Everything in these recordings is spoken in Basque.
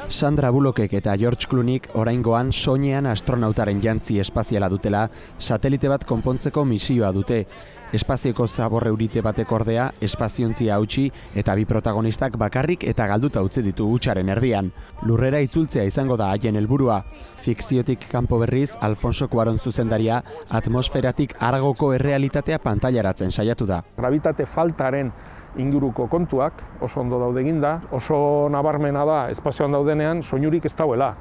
Sandra Bullockek eta George Clooneyk oraingoan soinean astronautaren jantzi espaziala dutela, satelite bat konpontzeko misioa dute. Espazioko zabor eurite batek ordea, espaziontzia hautsi eta bi protagonistak bakarrik eta galduta utzi ditu hutsaren erdian. Lurrera itzultzea izango da haien helburua. Fikziotik kanpo berriz, Alfonso Cuarón zuzendaria, atmosferatik haragoko errealitatea pantailaratzen saiatu da. Grabitate faltaren inguruko kontuak oso ondo daude eginda, oso nabarmena da espazioan daudenean soinurik ez dauela.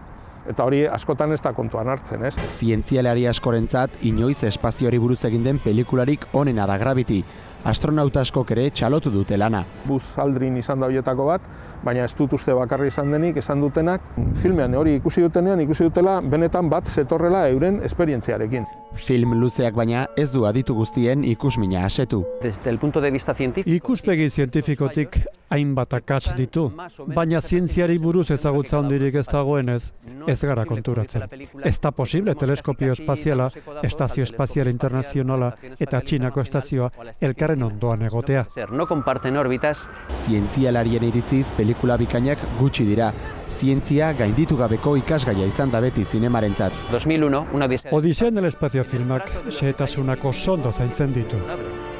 Eta hori askotan ez da kontuan hartzen, ez? Zientzialari askorentzat inoiz espazioari buruz egin den pelikularik onena da Gravity. Astronauta askok ere txalotu dute lana. Buzz Aldrin izan da horietako bat, baina ez dut uste bakarri izan denik, esan dutenak, filmean hori ikusi dutenean, ikusi dutela benetan bat zetorrela euren esperientziarekin. Film luzeak baina ez du aditu guztien ikusmina asetu. Desde el punto de vista científico. Ikuspegi zientifikotik hainbat akats ditu, baina zientziari buruz ezagutza handirik ez dagoenez, ez gara konturatzen. Ez da posible teleskopio espaziala, estazio espazial internazionala eta Txinako estazioa elkarren ondoan egotea. No comparten órbitas. Zientzialarien iritziz pelikula bikainak gutxi dira. Zientzia gainditu gabeko ikasgaia izan da beti zinemarentzat. 2001, una Odisea en el espacio filmak xehetasunak oso ondo zaintzen ditu.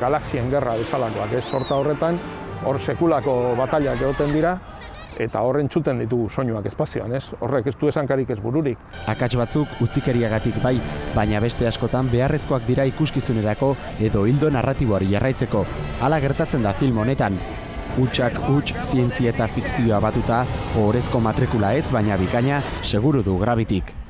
Galaxien gerra bezalakoak, ez? Horta horretan, hor sekulako batallak egoten dira, eta horren txuten ditugu soinuak espazioan, ez? Horrek ez du esankarik ez bururik. Akats batzuk utzikeriagatik bai, baina beste askotan beharrezkoak dira ikuskizunerako edo hildo narratiboari jarraitzeko. Hala gertatzen da film honetan. Hutsak huts, zientzia eta fikzioa batuta, ohorezko matrikula ez, baina bikaina seguru du Gravityk.